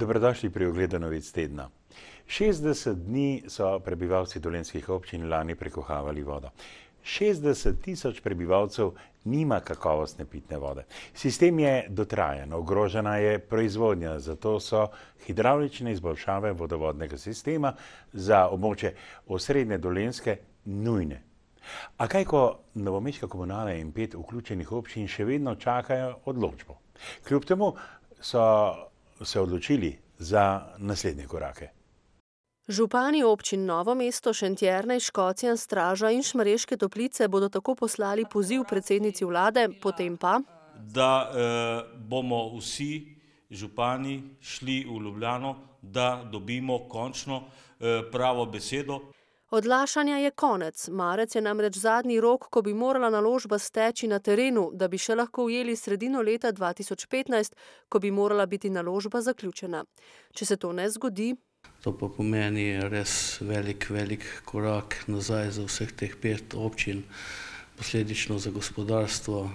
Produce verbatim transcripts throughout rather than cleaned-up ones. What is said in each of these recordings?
Dobrodošli pri ogledu novic tedna. šestdeset dni so prebivalci dolenjskih občin lani prekuhavali vodo. šestdeset tisoč prebivalcev nima kakovostne pitne vode. Sistem je dotrajan, ogrožena je proizvodnja, zato so hidravlične izboljšave vodovodnega sistema za območje osrednje Dolenjske nujne. A kaj, ko novomeška komunala in pet vključenih občin še vedno čakajo odločbo? Kljub temu so se odločili za naslednje korake. Župani občin Novo mesto, Šentjernej, Škocjan, Straža in Šmarješke Toplice bodo tako poslali poziv predsednici vlade, potem pa, da eh, bomo vsi župani šli v Ljubljano, da dobimo končno eh, pravo besedo. Odlašanja je konec. Marec je namreč zadnji rok, ko bi morala naložba steči na terenu, da bi še lahko ujeli sredino leta dva tisoč petnajst, ko bi morala biti naložba zaključena. Če se to ne zgodi, to pa pomeni res velik, velik korak nazaj za vseh teh pet občin, posledično za gospodarstvo.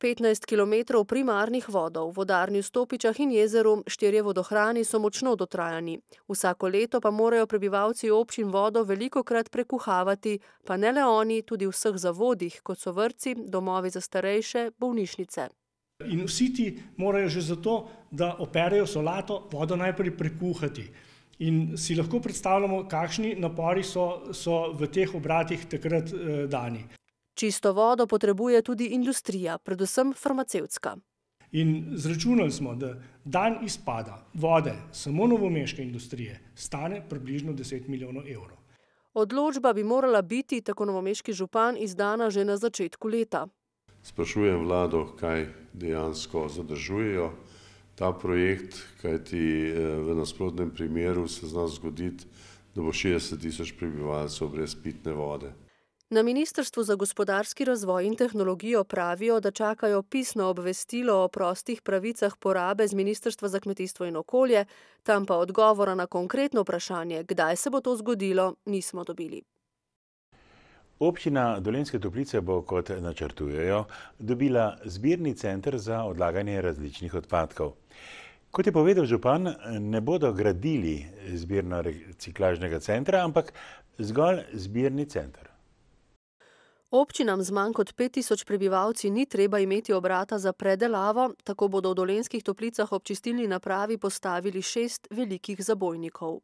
petnajst kilometrov primarnih vodov, vodarni v Stopičah in jezeru, štirje vodohrani so močno dotrajani. Vsako leto pa morajo prebivalci občin vodo velikokrat prekuhavati, pa ne le oni, tudi v vseh zavodih, kot so vrtci, domovi za starejše, bolnišnice. In vsi ti morajo že zato, da operejo solato, vodo najprej prekuhati. In si lahko predstavljamo, kakšni napori so, so v teh obratih takrat eh, dani. Čisto vodo potrebuje tudi industrija, predvsem farmacevtska. In zračunali smo, da dan izpada vode samo novomeške industrije stane približno deset milijonov evrov. Odločba bi morala biti, tako novomeški župan, izdana že na začetku leta. Sprašujem vlado, kaj dejansko zadržujejo ta projekt, kajti v nasprotnem primeru se zna zgoditi, da bo šestdeset tisoč prebivalcev brez pitne vode. Na Ministrstvu za gospodarski razvoj in tehnologijo pravijo, da čakajo pisno obvestilo o prostih pravicah porabe z Ministrstva za kmetijstvo in okolje, tam pa odgovora na konkretno vprašanje, kdaj se bo to zgodilo, nismo dobili. Občina Dolenjske Toplice bo, kot načrtujejo, dobila zbirni center za odlaganje različnih odpadkov. Kot je povedal župan, ne bodo gradili zbirno-reciklažnega centra, ampak zgolj zbirni center. Občinam z manj kot pet tisoč prebivalci ni treba imeti obrata za predelavo, tako bodo v Dolenjskih Toplicah ob čistilni napravi postavili šest velikih zabojnikov.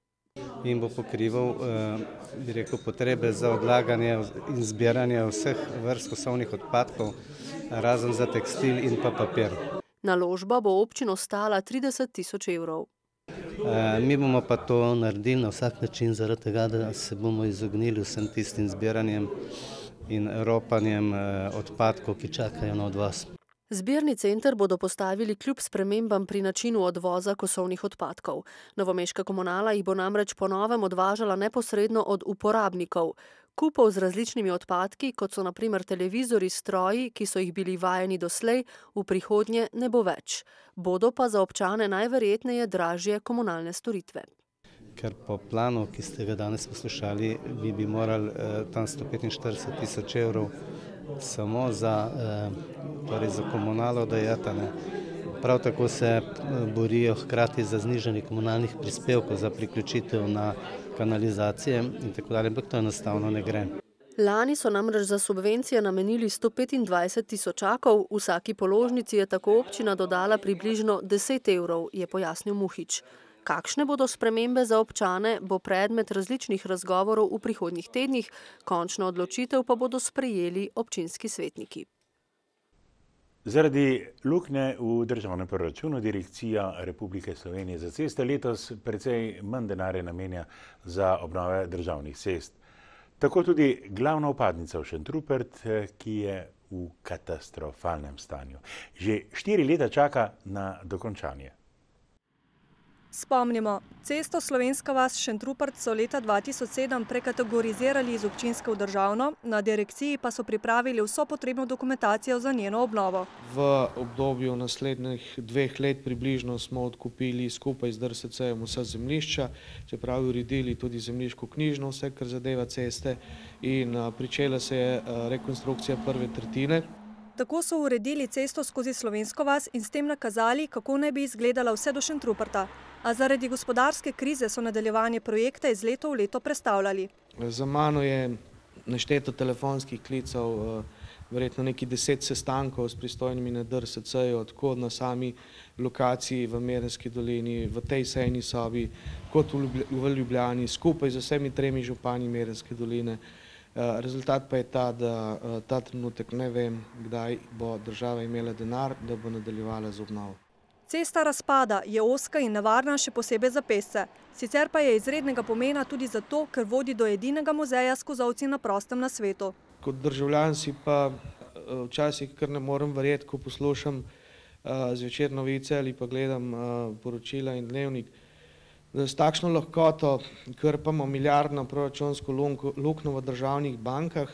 In bo pokrival bi rekel, potrebe za odlaganje in zbiranje vseh vrst kosovnih odpadkov, razen za tekstil in pa papir. Naložba bo občino stala trideset tisoč evrov. Mi bomo pa to naredili na vsak način, zaradi tega, da se bomo izognili vsem tistim zbiranjem in ropanjem odpadkov, ki čakajo na odvoz. Zbirni center bodo postavili kljub spremembam pri načinu odvoza kosovnih odpadkov. Novomeška komunala jih bo namreč po novem odvažala neposredno od uporabnikov. Kupov z različnimi odpadki, kot so na primer televizori, stroji, ki so jih bili vajeni doslej, v prihodnje ne bo več. Bodo pa za občane najverjetneje dražje komunalne storitve. Ker po planu, ki ste ga danes poslušali, bi bi morali eh, tam sto petinštirideset tisoč evrov samo za, eh, torej za komunalo dajati. Prav tako se borijo hkrati za znižanje komunalnih prispevkov, za priključitev na kanalizacije in tako dalje, ampak to enostavno ne gre. Lani so namreč za subvencije namenili sto petindvajset tisočakov, vsaki položnici je tako občina dodala približno deset evrov, je pojasnil Muhič. Kakšne bodo spremembe za občane, bo predmet različnih razgovorov v prihodnjih tednih, končno odločitev pa bodo sprejeli občinski svetniki. Zaradi luknje v državnem proračunu Direkcija Republike Slovenije za ceste letos precej manj denarja namenja za obnove državnih cest. Tako tudi glavna vpadnica v Šentrupert, ki je v katastrofalnem stanju. Že štiri leta čaka na dokončanje. Spomnimo, cesto Slovenska vas Šentrupert so leta dva tisoč sedem prekategorizirali iz občinske v državno, na direkciji pa so pripravili vso potrebno dokumentacijo za njeno obnovo. V obdobju naslednjih dveh let približno smo odkupili skupaj z D R S C-jem vsa zemljišča, čeprav uredili tudi zemljiško knjižno, vse kar zadeva ceste, in pričela se je rekonstrukcija prve tretjine. Tako so uredili cesto skozi Slovensko vas in s tem nakazali, kako naj bi izgledala vse do Šentruperta. A zaradi gospodarske krize so nadaljevanje projekta iz leta v leto prestavljali. Za mano je nešteto telefonskih klicev, verjetno neki deset sestankov s pristojnimi na D R S C-ju, tako na sami lokaciji v Merenski dolini, v tej sejni sobi, kot v Ljubljani, skupaj z vsemi tremi župani Merenske doline. Rezultat pa je ta, da ta trenutek ne vem, kdaj bo država imela denar, da bo nadaljevala z obnovo. Cesta razpada, je ozka in nevarna še posebej za pešce. Sicer pa je izrednega pomena tudi zato, ker vodi do edinega muzeja s kozolci na prostem na svetu. Kot državljan si pa včasih kar ne morem verjeti, ko poslušam zvečer novice ali pa gledam poročila in dnevnik, da s takšno lahkoto krpamo milijardno proračunsko luknjo v državnih bankah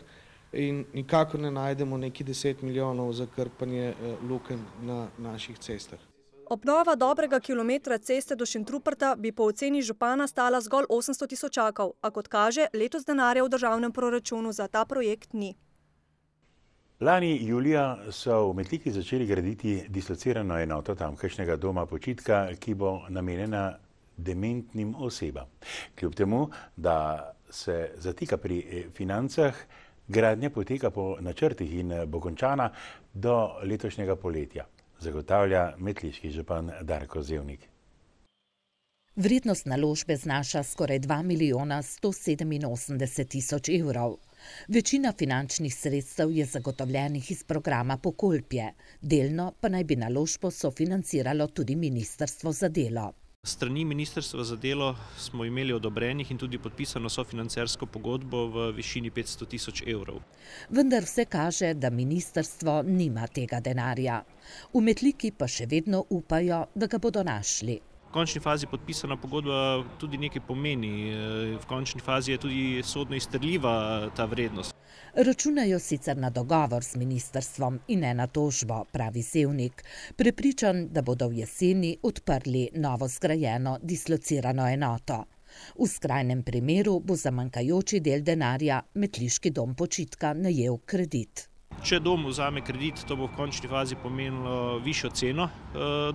in nikakor ne najdemo neki deset milijonov za krpanje lukenj na naših cestah. Obnova dobrega kilometra ceste do Šentruperta bi po oceni župana stala zgolj osemsto tisočakov, a kot kaže, letos denarja v državnem proračunu za ta projekt ni. Lani julija so v Metliki začeli graditi dislocirano enoto tamkajšnjega doma počitka, ki bo namenjena dementnim osebam. Kljub temu, da se zatika pri financah, gradnja poteka po načrtih in bo končana do letošnjega poletja, zagotavlja metliški župan Darko Zevnik. Vrednost naložbe znaša skoraj dva milijona sto sedeminosemdeset tisoč evrov. Večina finančnih sredstev je zagotovljenih iz programa Pokolpje, delno pa naj bi naložbo sofinanciralo tudi Ministrstvo za delo. Strani Ministrstva za delo smo imeli odobrenih in tudi podpisano sofinancersko pogodbo v višini petsto tisoč evrov. Vendar vse kaže, da ministrstvo nima tega denarja. V Metliki pa še vedno upajo, da ga bodo našli. V končni fazi podpisana pogodba tudi nekaj pomeni. V končni fazi je tudi sodno izterljiva ta vrednost. Računajo sicer na dogovor z ministrstvom in ne na tožbo, pravi Zevnik, prepričan, da bodo v jeseni odprli novo zgrajeno dislocirano enoto. V skrajnem primeru bo za manjkajoči del denarja Metliški dom počitka najel kredit. Če dom vzame kredit, to bo v končni fazi pomenilo višjo ceno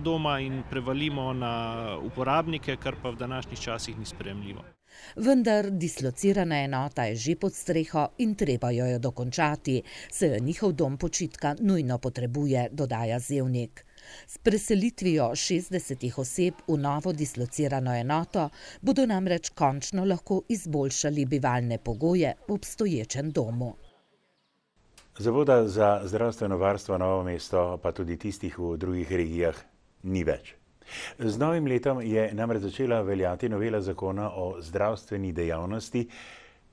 doma in prevalimo na uporabnike, kar pa v današnjih časih ni sprejemljivo. Vendar dislocirana enota je že pod streho in treba jo jo dokončati, saj jo njihov dom počitka nujno potrebuje, dodaja Zevnik. S preselitvijo šestdesetih oseb v novo dislocirano enoto bodo namreč končno lahko izboljšali bivalne pogoje v obstoječem domu. Zavoda za zdravstveno varstvo Novo mesto, pa tudi tistih v drugih regijah, ni več. Z novim letom je namreč začela veljati novela zakona o zdravstveni dejavnosti,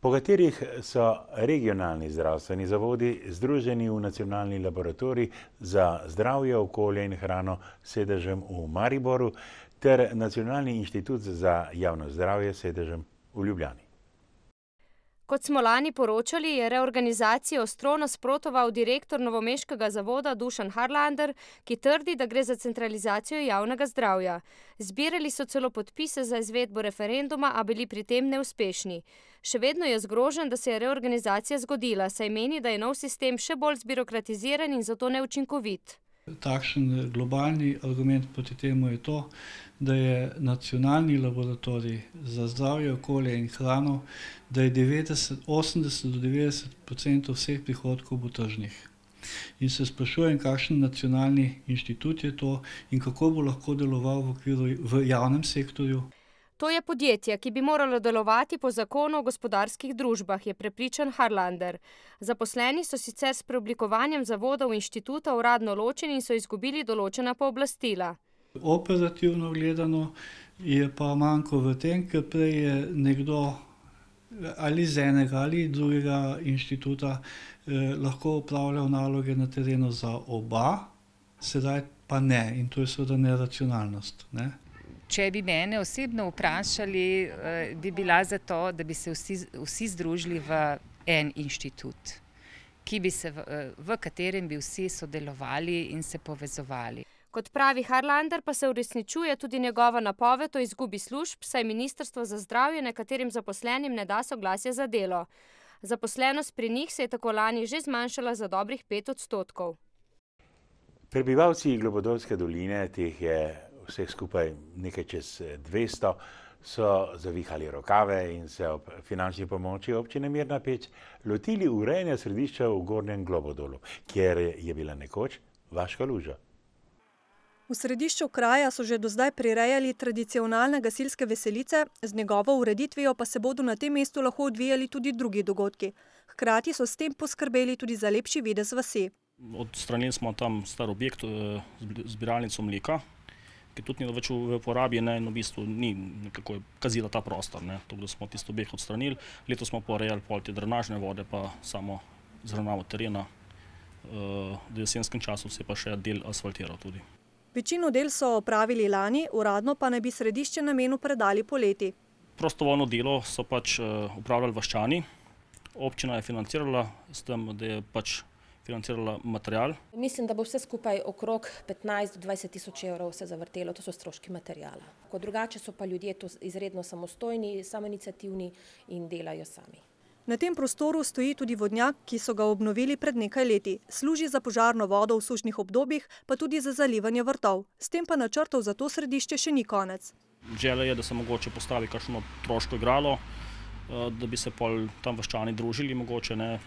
po katerih so regionalni zdravstveni zavodi združeni v nacionalni laboratorij za zdravje, okolje in hrano s sedežem v Mariboru ter nacionalni inštitut za javno zdravje s sedežem v Ljubljani. Kot smo lani poročali, je reorganizacijo ostro nasprotoval direktor novomeškega zavoda Dušan Harlander, ki trdi, da gre za centralizacijo javnega zdravja. Zbirali so celo podpise za izvedbo referenduma, a bili pri tem neuspešni. Še vedno je zgrožen, da se je reorganizacija zgodila, saj meni, da je nov sistem še bolj zbirokratiziran in zato neučinkovit. Takšen globalni argument proti temu je to, da je nacionalni laboratorij za zdravje, okolje in hrano, da je devetdeset, osemdeset do devetdeset odstotkov vseh prihodkov bo tržnih. In se sprašujem, kakšen nacionalni inštitut je to in kako bo lahko deloval v okviru v javnem sektorju. To je podjetje, ki bi moralo delovati po zakonu o gospodarskih družbah, je prepričan Harlander. Zaposleni so sicer s preoblikovanjem zavodov inštituta uradno ločeni in so izgubili določena pooblastila. Operativno gledano je pa manjko v tem, ker prej je nekdo ali z enega ali drugega inštituta eh, lahko upravljal naloge na terenu za oba, sedaj pa ne, in to je seveda neracionalnost, ne? Če bi mene osebno vprašali, bi bila za to, da bi se vsi, vsi združili v en inštitut, ki bi se v, v katerem bi vsi sodelovali in se povezovali. Kot pravi Harlander, pa se uresničuje tudi njegova napoved o izgubi služb, saj Ministrstvo za zdravje nekaterim zaposlenim ne da soglasja za delo. Zaposlenost pri njih se je tako lani že zmanjšala za dobrih pet odstotkov. Prebivalci Globodolske doline, teh je vseh skupaj nekaj čez dvesto, so zavihali rokave in se ob finančni pomoči občine Mirna Peč lotili urejanja središča v Gornjem Globodolu, kjer je bila nekoč vaška luža. V središču kraja so že do zdaj prirejali tradicionalne gasilske veselice, z njegovo ureditvijo pa se bodo na tem mestu lahko odvijali tudi drugi dogodki. Hkrati so s tem poskrbeli tudi za lepši videz vasi. Odstranili smo tam star objekt, zbiralnico mleka, ki tudi ni več v uporabi, ne, in v bistvu ni nekako kazila ta prostor, ne, tako da smo tisto objekt odstranili. Letos smo porejali pol te drenažne vode, pa samo zravnavo terena. V jesenskem času se je pa še del asfaltiral tudi. Večino del so opravili lani, uradno pa naj bi središče namenu predali poleti. Prostovoljno delo so pač upravljali vaščani. Občina je financirala s tem, da je pač financirala material. Mislim, da bo vse skupaj okrog petnajst do dvajset tisoč evrov se zavrtelo, to so stroški materijala. Ko drugače so pa ljudje to izredno samostojni, samoiniciativni in delajo sami. Na tem prostoru stoji tudi vodnjak, ki so ga obnovili pred nekaj leti. Služi za požarno vodo v sušnih obdobjih, pa tudi za zalivanje vrtov. S tem pa načrtov za to središče še ni konec. Želja je, da se mogoče postavi kakšno otroško igralo, da bi se pol tam vaščani družili, mogoče ne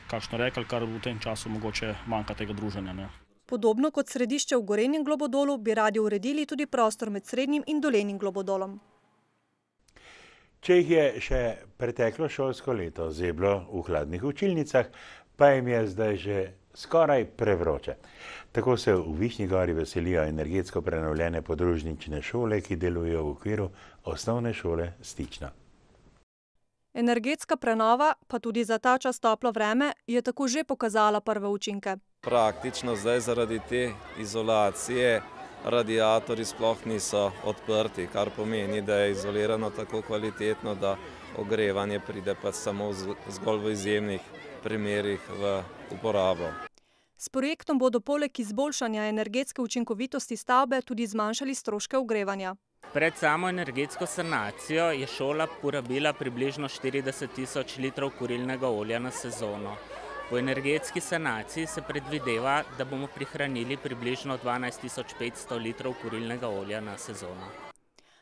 kakšno rekli, kar v tem času mogoče manjka tega druženja. Ne. Podobno kot središče v Gorenjem Globodolu bi radi uredili tudi prostor med Srednjim in Dolenjim Globodolom. Če jih je še preteklo šolsko leto zeblo v hladnih učilnicah, pa jim je zdaj že skoraj prevroče. Tako se v Višnji Gori veselijo energetsko prenovljene podružnične šole, ki delujejo v okviru osnovne šole Stična. Energetska prenova, pa tudi za ta čas toplo vreme, je tako že pokazala prve učinke. Praktično zdaj zaradi te izolacije radiatorji sploh niso odprti, kar pomeni, da je izolirano tako kvalitetno, da ogrevanje pride pa samo zgolj v izjemnih primerih v uporabo. S projektom bodo poleg izboljšanja energetske učinkovitosti stavbe tudi zmanjšali stroške ogrevanja. Pred samo energetsko sanacijo je šola porabila približno štirideset tisoč litrov kurilnega olja na sezono. Po energetski sanaciji se predvideva, da bomo prihranili približno dvanajst tisoč petsto litrov kurilnega olja na sezono.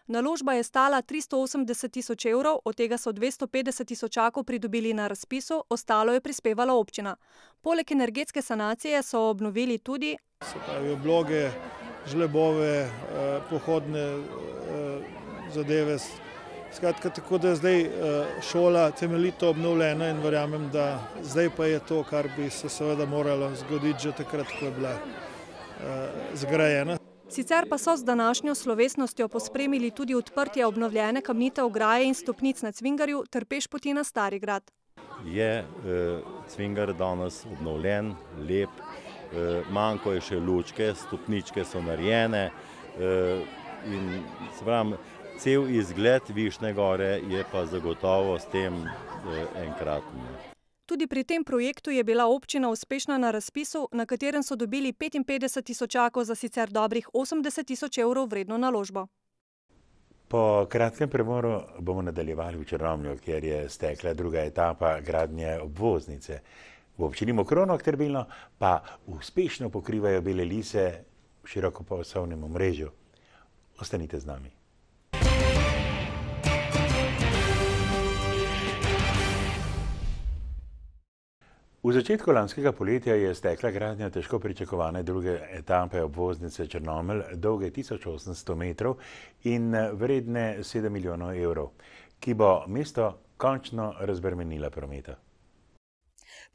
Naložba je stala tristo osemdeset tisoč evrov, od tega so dvesto petdeset tisočakov pridobili na razpisu, ostalo je prispevala občina. Poleg energetske sanacije so obnovili tudi se pravi obloge, žlebove, pohodne zadeve. Skratka, tako da je zdaj šola temeljito obnovljena in verjamem, da zdaj pa je to, kar bi se seveda moralo zgoditi že takrat, ko je bila zgrajena. Sicer pa so z današnjo slovesnostjo pospremili tudi odprtje obnovljene kamnite ograje in stopnic na Cvingarju ter pešpoti na Starigrad. Je Cvingar danes obnovljen, lep, manjko je še lučke, stopničke so narejene in se pravim, cel izgled Višnje Gore je pa zagotovo s tem enkratni. Tudi pri tem projektu je bila občina uspešna na razpisu, na katerem so dobili petinpetdeset tisočakov za sicer dobrih osemdeset tisoč evrov vredno naložbo. Po kratkem premoru bomo nadaljevali v Črnomlju, kjer je stekla druga etapa gradnje obvoznice. V občini Mokrono Trbilno pa uspešno pokrivajo bele lise v širokopasovnem omrežju. Ostanite z nami. V začetku lanskega poletja je stekla gradnja težko pričakovane druge etape obvoznice Črnomelj, dolge tisoč osemsto metrov in vredne sedem milijonov evrov, ki bo mesto končno razbremenila prometa.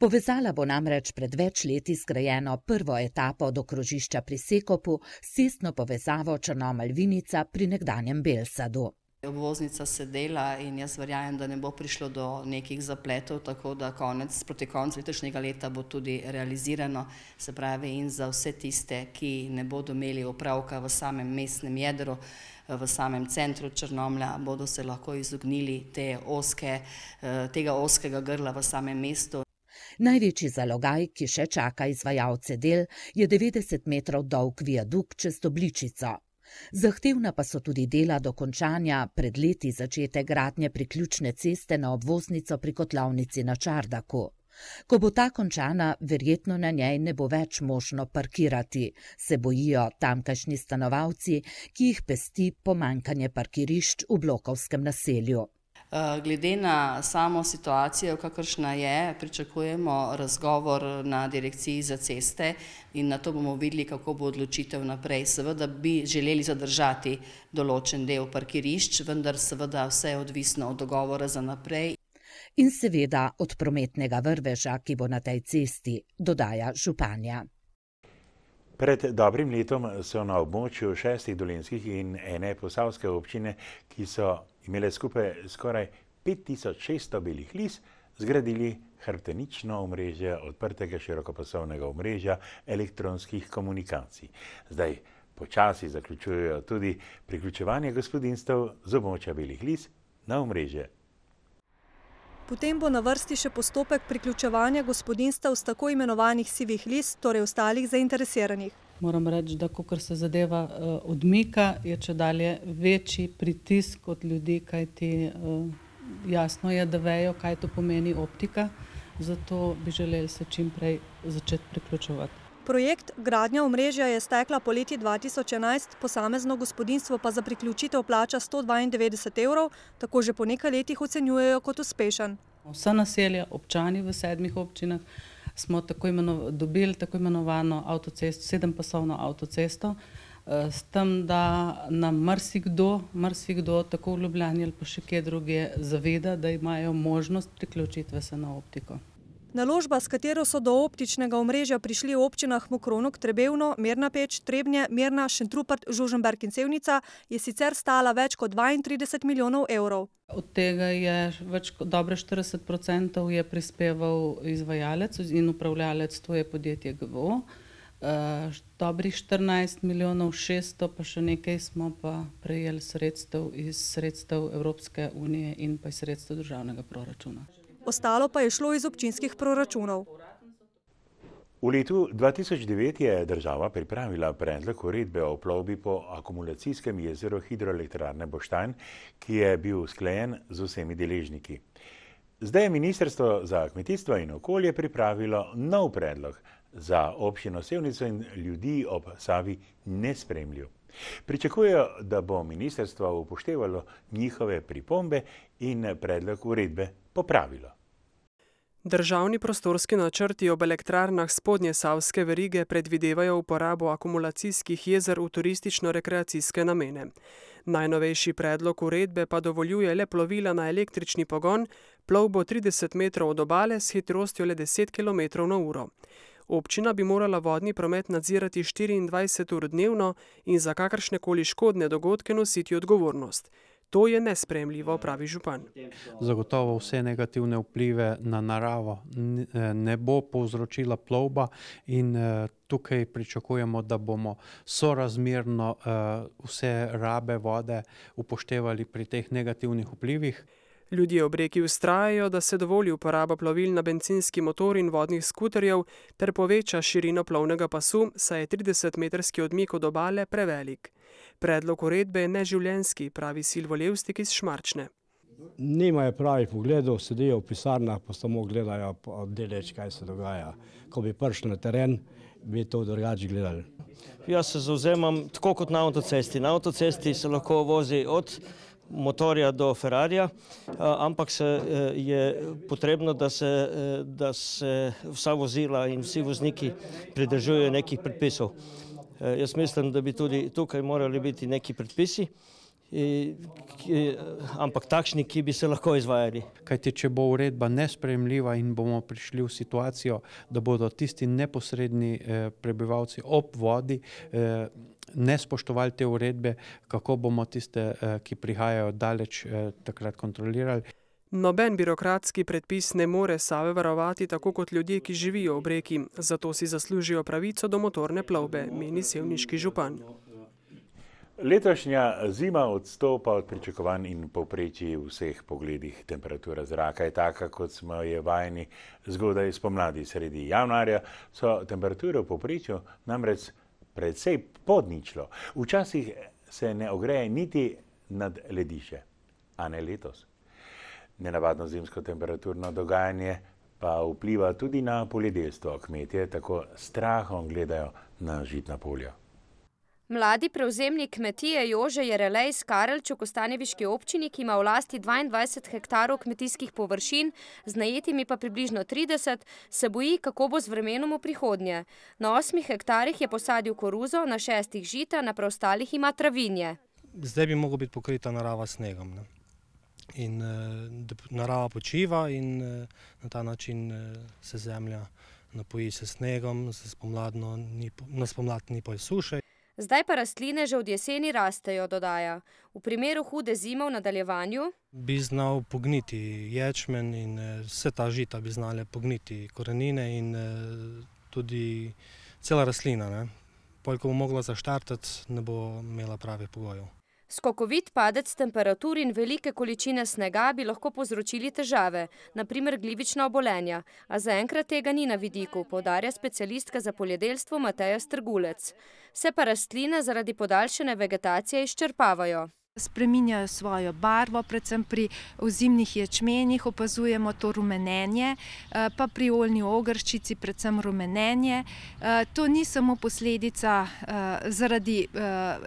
Povezala bo namreč pred več leti zgrajeno prvo etapo do krožišča pri Sekopu s cestno povezavo Črnomelj-Vinica pri nekdanjem Belsadu. Obvoznica se dela in jaz verjamem, da ne bo prišlo do nekih zapletov, tako da konec, proti koncu letošnjega leta bo tudi realizirano, se pravi in za vse tiste, ki ne bodo imeli opravka v samem mestnem jedru, v samem centru Črnomlja, bodo se lahko izognili te oske, tega oskega grla v samem mestu. Največji zalogaj, ki še čaka izvajalce del, je devetdeset metrov dolg viadukt čez Dobličico. Zahtevna pa so tudi dela dokončanja pred leti začete gradnje priključne ceste na obvoznico pri kotlovnici na Čardaku. Ko bo ta končana, verjetno na njej ne bo več možno parkirati, se bojijo tamkajšnji stanovalci, ki jih pesti pomanjkanje parkirišč v blokovskem naselju. Glede na samo situacijo, kakršna je, pričakujemo razgovor na direkciji za ceste in na to bomo videli, kako bo odločitev naprej. Seveda bi želeli zadržati določen del parkirišč, vendar seveda vse je odvisno od dogovora za naprej. In seveda od prometnega vrveža, ki bo na tej cesti, dodaja županja. Pred dobrim letom so na območju šestih dolenjskih in ene posavske občine, ki so imele skupaj skoraj pet tisoč šeststo belih lis, zgradili hrbtenično omrežje odprtega širokopasovnega omrežja elektronskih komunikacij. Zdaj počasi zaključujejo tudi priključevanje gospodinjstev z območja belih lis na omrežje. Potem bo na vrsti še postopek priključevanja gospodinjstev s tako imenovanih sivih lis, torej ostalih zainteresiranih. Moram reči, da kakor se zadeva uh, odmika, je če dalje večji pritisk od ljudi, kajti uh, jasno je, da vejo, kaj to pomeni optika, zato bi želeli se čim prej začeti priključevati. Projekt gradnja omrežja je stekla poleti dva tisoč enajst, posamezno gospodinjstvo pa za priključitev plača sto dvaindevetdeset evrov, tako že po nekaj letih ocenjujejo kot uspešen. Vsa naselja, občani v sedmih občinah smo tako imeno, dobili tako imenovano avtocesto, sedempasovno avtocesto, s tem, da nam marsikdo, marsikdo tako v Ljubljani ali pa še kje drugje zaveda, da imajo možnost priključitve se na optiko. Naložba, s katero so do optičnega omrežja prišli v občinah Mokronog, Trebevno, Mirna Peč, Trebnje, Mirna, Šentrupert, Žužemberk in Sevnica, je sicer stala več kot dvaintrideset milijonov evrov. Od tega je več kot dobre štirideset procentov je prispeval izvajalec in upravljalec, to je podjetje G V O. Uh, dobrih štirinajst milijonov šeststo, pa še nekaj smo pa prejeli sredstev iz sredstev Evropske unije in pa iz sredstev državnega proračuna. Ostalo pa je šlo iz občinskih proračunov. V letu dva tisoč devet je država pripravila predlog uredbe o plovbi po akumulacijskem jezeru hidroelektrarne Boštanj, ki je bil usklajen z vsemi deležniki. Zdaj je Ministrstvo za kmetijstvo in okolje pripravilo nov predlog za občino Sevnico in ljudi ob Savi nesprejemljiv. Pričakujejo, da bo ministrstvo upoštevalo njihove pripombe in predlog uredbe popravilo. Državni prostorski načrti ob elektrarnah spodnje savske verige predvidevajo uporabo akumulacijskih jezer v turistično-rekreacijske namene. Najnovejši predlog uredbe pa dovoljuje le plovila na električni pogon, plovbo trideset metrov od obale s hitrostjo le deset kilometrov na uro. Občina bi morala vodni promet nadzirati štiriindvajset ur dnevno in za kakršnekoli škodne dogodke nositi odgovornost. To je nesprejemljivo, pravi župan. Zagotovo vse negativne vplive na naravo ne bo povzročila plovba in tukaj pričakujemo, da bomo sorazmerno vse rabe vode upoštevali pri teh negativnih vplivih. Ljudje ob reki vztrajajo, da se dovoli uporaba plovil na bencinski motor in vodnih skuterjev ter poveča širino plovnega pasu, saj je tridesetmetrski odmik od obale prevelik. Predlog uredbe je neživljenjski, pravi Silvo Levstik iz Šmarčne. Nimajo pravih pogledov, sedijo v pisarnah, pa samo gledajo deleč, kaj se dogaja. Ko bi prišli na teren, bi to drugače gledali. Jaz se zavzemam tako kot na avtocesti. Na avtocesti se lahko vozi od motorja do Ferrarija, ampak se je potrebno, da se, da se vsa vozila in vsi vozniki pridržujejo nekih predpisov. Jaz mislim, da bi tudi tukaj morali biti neki predpisi, ampak takšni, ki bi se lahko izvajali. Kajti, če bo uredba nesprejemljiva in bomo prišli v situacijo, da bodo tisti neposredni prebivalci ob vodi ne spoštovali te uredbe, kako bomo tiste, ki prihajajo daleč, takrat kontrolirali. Noben birokratski predpis ne more Save varovati tako kot ljudje, ki živijo ob reki, zato si zaslužijo pravico do motorne plovbe, meni sevniški župan. Letošnja zima odstopa od pričakovanj in povprečij v vseh pogledih. Temperatura zraka je taka, kot smo je vajeni zgodaj spomladi. Sredi januarja so temperature v povprečju namreč precej pod ničlo. Včasih se ne ogreje niti nad ledišče, a ne letos. Nenavadno zimsko temperaturno dogajanje pa vpliva tudi na poljedelstvo. Kmetje tako strahom gledajo na žitna polja. Mladi prevzemnik kmetije Jože Jerelej iz Karelč v kostanjeviški občini, ki ima v lasti dvaindvajset hektarov kmetijskih površin, z najetimi pa približno trideset, se boji, kako bo z vremenom v prihodnje. Na osmih hektarih je posadil koruzo, na šestih žita, na preostalih ima travinje. Zdaj bi mogla biti pokrita narava s snegom. Ne? In da narava počiva in na ta način se zemlja napoji se snegom, se spomladno ni, na spomlad ni pa suše. Zdaj pa rastline že od jeseni rastejo, dodaja. V primeru hude zime v nadaljevanju bi znal pogniti ječmen in vse ta žita bi znale pogniti korenine in tudi cela rastlina. Ne? Pol, ko bo mogla zaštartati, ne bo imela pravih pogojev. Skokovit padec temperatur in velike količine snega bi lahko povzročili težave, na primer glivična obolenja, a zaenkrat tega ni na vidiku, poudarja specialistka za poljedelstvo Mateja Strgulec. Se pa rastline zaradi podaljšane vegetacije izčrpavajo. Spreminjajo svojo barvo, predvsem pri ozimnih ječmenih opazujemo to rumenenje, pa pri oljni ogrščici predvsem rumenenje. To ni samo posledica zaradi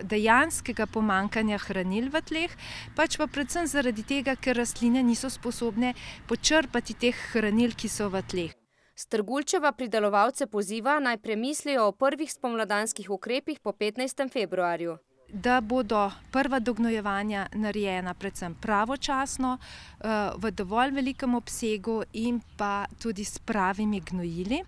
dejanskega pomanjkanja hranil v tleh, pač pa predvsem zaradi tega, ker rastline niso sposobne počrpati teh hranil, ki so v tleh. Strgulčeva pridelovalce poziva, naj premislijo o prvih spomladanskih ukrepih po petnajstem februarju. Da bodo prva dognojevanja narejena predvsem pravočasno, v dovolj velikem obsegu in pa tudi s pravimi gnojili.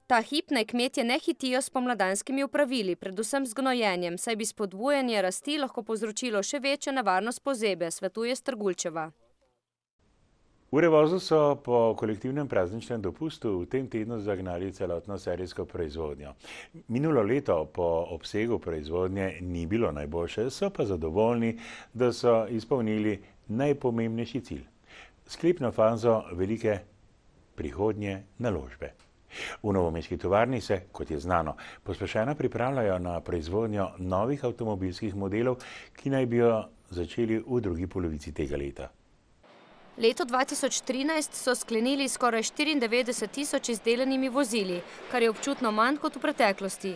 Ta hip naj kmetje ne hitijo s pomladanskimi opravili, predvsem z gnojenjem, saj bi spodbujanje rasti lahko povzročilo še večjo nevarnost pozebe, svetuje Strgulčeva. V Revozu so po kolektivnem prazničnem dopustu v tem tednu zagnali celotno serijsko proizvodnjo. Minulo leto po obsegu proizvodnje ni bilo najboljše, so pa zadovoljni, da so izpolnili najpomembnejši cilj. Sklepno fazo velike prihodnje naložbe. V novomeški tovarni se, kot je znano, pospešeno pripravljajo na proizvodnjo novih avtomobilskih modelov, ki naj bi jo začeli v drugi polovici tega leta. Leto dva tisoč trinajst so sklenili skoraj štiriindevetdeset tisoč izdelanimi vozili, kar je občutno manj kot v preteklosti.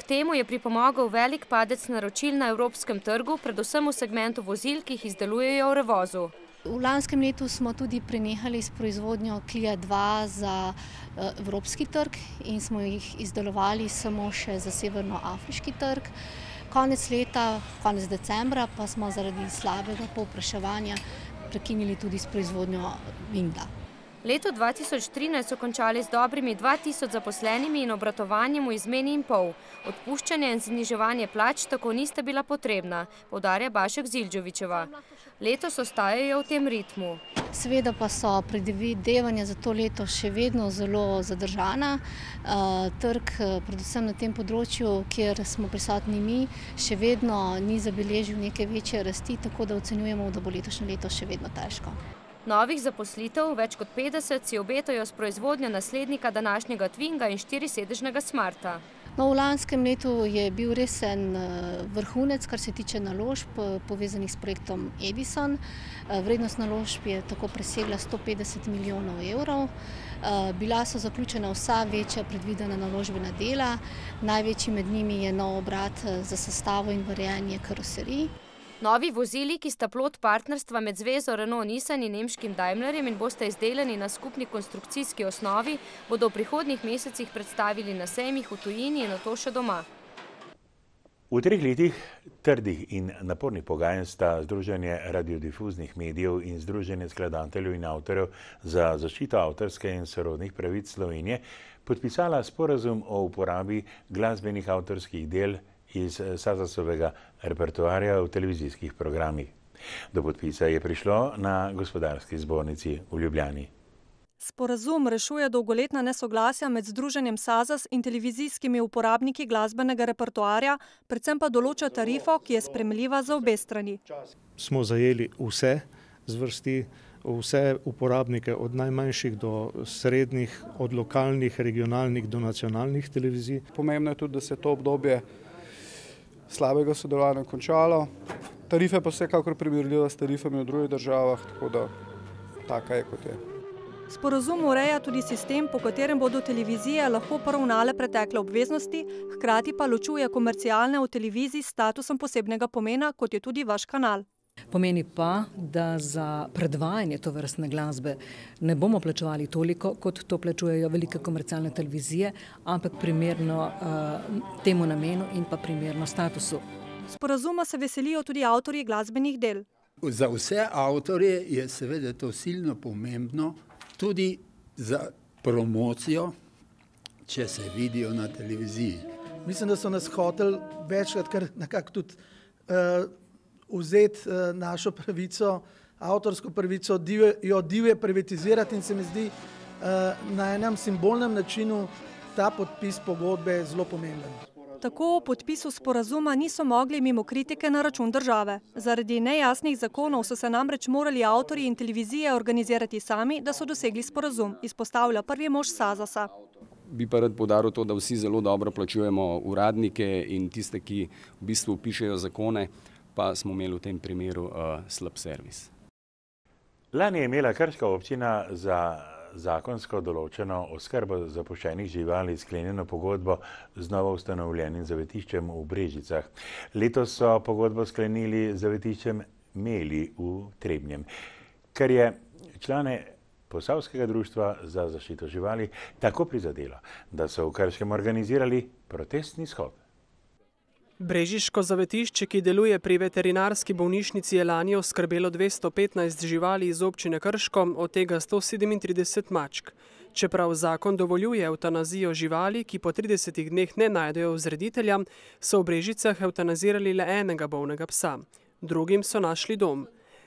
K temu je pripomogel velik padec naročil na evropskem trgu, predvsem v segmentu vozil, ki jih izdelujejo v Revozu. V lanskem letu smo tudi prenehali s proizvodnjo Clio dva za evropski trg in smo jih izdelovali samo še za severnoafriški trg. Konec leta, konec decembra pa smo zaradi slabega povpraševanja prekinili tudi s proizvodnjo Vinda. Leto dva tisoč trinajst so končali z dobrimi dva tisoč zaposlenimi in obratovanjem v izmeni in pol. Odpuščanje in zniževanje plač tako nista bila potrebna, poudarja Bašek Zildžovičeva. Letos ostajajo v tem ritmu. Seveda pa so predvidevanja za to leto še vedno zelo zadržana. Trg, predvsem na tem področju, kjer smo prisotni mi, še vedno ni zabeležil neke večje rasti, tako da ocenjujemo, da bo letošnje leto še vedno težko. Novih zaposlitev, več kot petdeset, si obetajo s proizvodnjo naslednika današnjega Twinga in štirisedežnega Smarta. No, v lanskem letu je bil res en vrhunec, kar se tiče naložb povezanih s projektom Edison. Vrednost naložb je tako presegla sto petdeset milijonov evrov. Bila so zaključena vsa večja predvidena naložbena dela. Največji med njimi je nov obrat za sestavo in varjenje karoserij. Novi vozili, ki sta plod partnerstva med zvezo Renault-Nissan in nemškim Daimlerjem in bosta izdelani na skupni konstrukcijski osnovi, bodo v prihodnjih mesecih predstavili na sejmih v tujini in nato še doma. V treh letih trdih in napornih pogajanj sta Združenje radiodifuznih medijev in Združenje skladateljev in avtorjev za zaščito avtorske in sorodnih pravic Slovenije podpisala sporazum o uporabi glasbenih avtorskih del iz Sazasovega repertoarja v televizijskih programih. Do podpisa je prišlo na Gospodarski zbornici v Ljubljani. Sporazum rešuje dolgoletna nesoglasja med Združenjem Sazas in televizijskimi uporabniki glasbenega repertoarja, predvsem pa določa tarifo, ki je sprejemljiva za obe strani. Smo zajeli vse zvrsti, vse uporabnike od najmanjših do srednjih, od lokalnih, regionalnih do nacionalnih televizij. Pomembno je tudi, da se to obdobje slabega sodelovanja končalo. Tarife pa vsekakor primerljiva s tarifami v drugih državah, tako da taka je, kot je. Sporazum ureja tudi sistem, po katerem bodo televizije lahko poravnale pretekle obveznosti, hkrati pa ločuje komercialne v televiziji s statusom posebnega pomena, kot je tudi vaš kanal. Pomeni pa, da za predvajanje tovrstne glasbe ne bomo plačevali toliko, kot to plačujejo velike komercialne televizije, ampak primerno uh, temu namenu in pa primerno statusu. Sporazuma se veselijo tudi avtorji glasbenih del. Za vse avtorje je seveda to silno pomembno, tudi za promocijo, če se vidijo na televiziji. Mislim, da so nas hoteli večkrat kar nekako tudi uh, vzeti uh, našo pravico, avtorsko pravico, divje, jo divje privatizirati in se mi zdi uh, na enem simbolnem načinu ta podpis pogodbe zelo pomemben. Tako o podpisu sporazuma niso mogli mimo kritike na račun države. Zaradi nejasnih zakonov so se namreč morali avtorji in televizije organizirati sami, da so dosegli sporazum, izpostavlja prvi mož Sazasa. Bi pa rad poudaril to, da vsi zelo dobro plačujemo uradnike in tiste, ki v bistvu pišejo zakone, pa smo imeli v tem primeru uh, slab servis. Lani je imela krška občina za zakonsko določeno oskrbo zapuščenih živali sklenjeno pogodbo z novo ustanovljenim zavetiščem v Brežicah. Letos so pogodbo sklenili z zavetiščem Meli v Trebnjem, kar je člane Posavskega društva za zaščito živali tako prizadelo, da so v Krškem organizirali protestni shod. Brežiško zavetišče, ki deluje pri veterinarski bolnišnici, je lani oskrbelo dvesto petnajst živali iz občine Krško, od tega sto sedemintrideset mačk. Čeprav zakon dovoljuje evtanazijo živali, ki po tridesetih dneh ne najdejo vzreditelja, so v Brežicah evtanazirali le enega bolnega psa. Drugim so našli dom.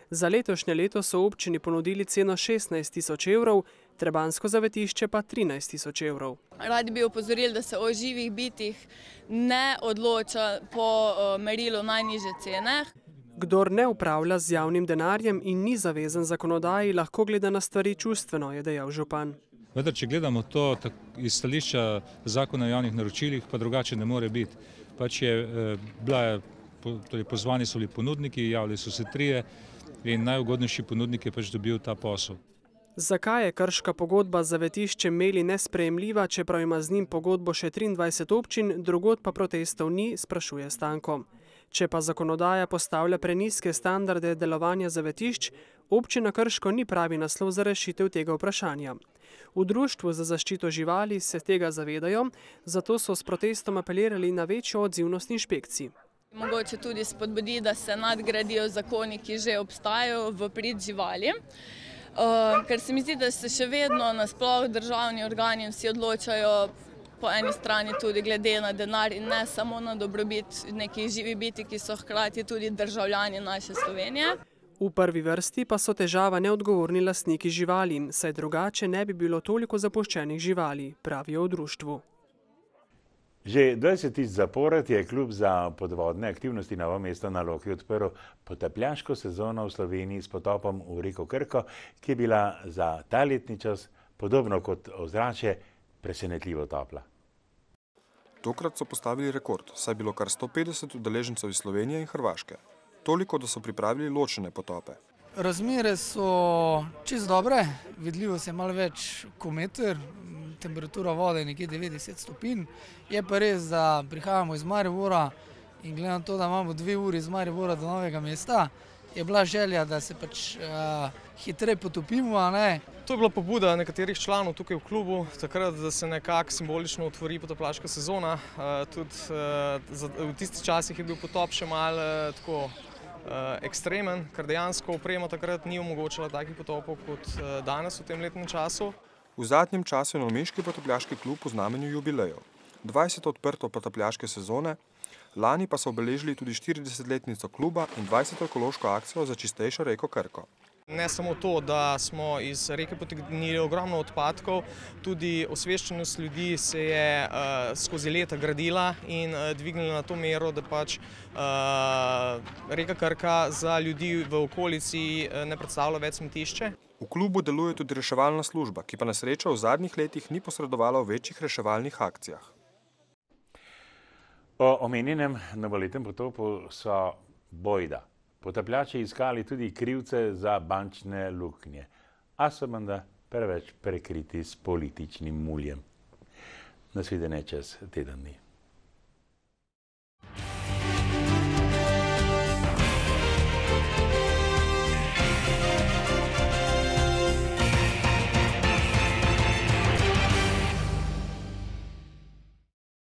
Za letošnje leto so občini ponudili ceno šestnajst tisoč evrov, Trebanjsko zavetišče pa trinajst tisoč evrov. Radi bi opozorili, da se o živih bitih ne odloča po merilu najnižje cene. Kdor ne upravlja z javnim denarjem in ni zavezan zakonodaji, lahko gleda na stvari čustveno, je dejal župan. Vendar, če gledamo to iz stališča zakona o javnih naročilih, pa drugače ne more biti. Pač je bila, torej pozvani so bili ponudniki, javili so se trije in najugodnejši ponudnik je pač dobil ta posel. Zakaj je krška pogodba z zavetiščem Meli nesprejemljiva, čeprav ima z njim pogodbo še triindvajset občin, drugod pa protestov ni, sprašuje Stanko. Če pa zakonodaja postavlja prenizke standarde delovanja zavetišč, občina Krško ni pravi naslov za rešitev tega vprašanja. V Društvu za zaščito živali se tega zavedajo, zato so s protestom apelirali na večjo odzivnost inšpekcij. Mogoče tudi spodbudi, da se nadgradijo zakoni, ki že obstajajo v prid živali. Uh, ker se mi zdi, da se še vedno nasploh državni organi vsi odločajo po eni strani tudi glede na denar in ne samo na dobrobit nekih živih biti, ki so hkrati tudi državljani naše Slovenije. V prvi vrsti pa so težava neodgovorni lastniki živali, saj drugače ne bi bilo toliko zapuščenih živali, pravijo v društvu. Že dvajsetič zapored je klub za podvodne aktivnosti Novo mesto na Loki odprl potapljaško sezono v Sloveniji s potopom v reko Krko, ki je bila za ta letni čas, podobno kot ozračje, presenetljivo topla. Tokrat so postavili rekord, saj je bilo kar sto petdeset udeležencev iz Slovenije in Hrvaške. Toliko, da so pripravili ločene potope. Razmere so čisto dobre, vidljivost je malo več kot meter, temperatura vode je nekje devetdeset stopinj. Je pa res, da prihajamo iz Maribora in glede na to, da imamo dve uri iz Maribora do Novega mesta, je bila želja, da se pač uh, hitreje potopimo, a ne. To je bila pobuda nekaterih članov tukaj v klubu, takrat, da se nekako simbolično otvori potapljaška sezona. Uh, tudi uh, v tistih časih je bil potop še malo uh, tako uh, ekstremen, ker dejansko oprema takrat ni omogočala takih potopov kot uh, danes v tem letnem času. V zadnjem času je novomeški potapljaški klub v znamenju jubilejev. dvajseto odprto potapljaške sezone, lani pa so obeležili tudi štiridesetletnico kluba in dvajseto ekološko akcijo za čistejšo reko Krko. Ne samo to, da smo iz reke potegnili ogromno odpadkov, tudi osveščenost ljudi se je uh, skozi leta gradila in uh, dvignila na to mero, da pač uh, reka Krka za ljudi v okolici uh, ne predstavlja več smetišče. V klubu deluje tudi reševalna služba, ki pa na srečo v zadnjih letih ni posredovala v večjih reševalnih akcijah. O omenjenem novoletnem potopu so bojda potapljači iskali tudi krivce za bančne luknje, a so menda preveč prekriti s političnim muljem. Nasvidenje čez teden dni.